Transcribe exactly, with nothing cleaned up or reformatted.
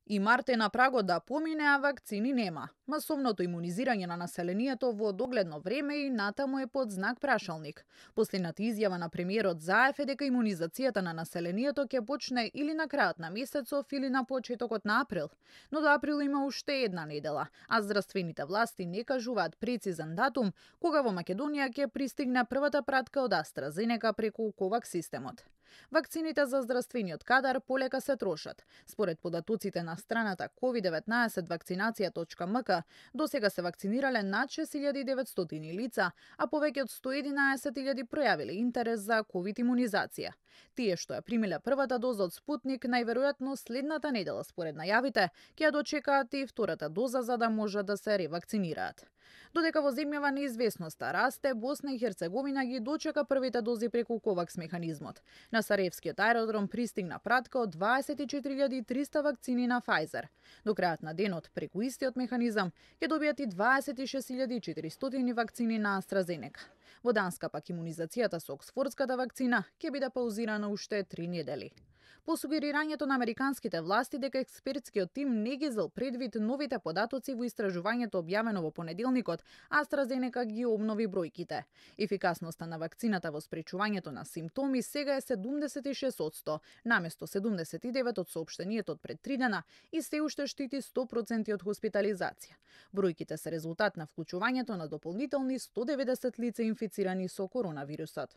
И март е на прагот да помине, а вакцини нема. Масовното имунизирање на населението во догледно време и натаму е под знак прашалник. Последната изјава на премиерот Заев е дека имунизацијата на населението ќе почне или на крајот на месецов или на почетокот на април. Но до април има уште една недела, а здравствените власти не кажуваат прецизен датум кога во Македонија ќе пристигне првата пратка од AstraZeneca преку ковакс системот. Вакцините за здравствениот кадар полека се трошат. Според податоците на страната ковид деветнаесет вакцинација точка ем ка, досега се вакцинирале над шест илјади и деветстотини лица, а повеќе од сто и единаесет илјади пројавиле интерес за ковид имунизација. Тие што ја примиле првата доза од Спутник, најверојатно следната недела според најавите, ќе ја дочекаат и втората доза за да можат да се ревакцинираат. Додека во земјава неизвестноста расте, Босна и Херцеговина ги дочека првите дози преку ковакс механизмот. На Сараевскиот аеродром пристигна пратка од дваесет и четири илјади и триста вакцини на Pfizer. До крајот на денот, преку истиот механизам, ќе добијат и дваесет и шест илјади и четиристотини вакцини на AstraZeneca. Во Данска пак имунизацијата со оксфордската вакцина ќе биде паузирана уште три недели. По сугерирањето на американските власти дека експертскиот тим не ги зел предвид новите податоци во истражувањето објавено во понеделникот, AstraZeneca ги обнови бројките. Ефикасноста на вакцината во спречувањето на симптоми сега е седумдесет и шест одсто, наместо седумдесет и девет од соопштениот од пред три дена и се уште штити сто проценти од хоспитализација. Бројките се резултат на вклучувањето на дополнителни сто и деветдесет лица инфицирани со коронавирусот.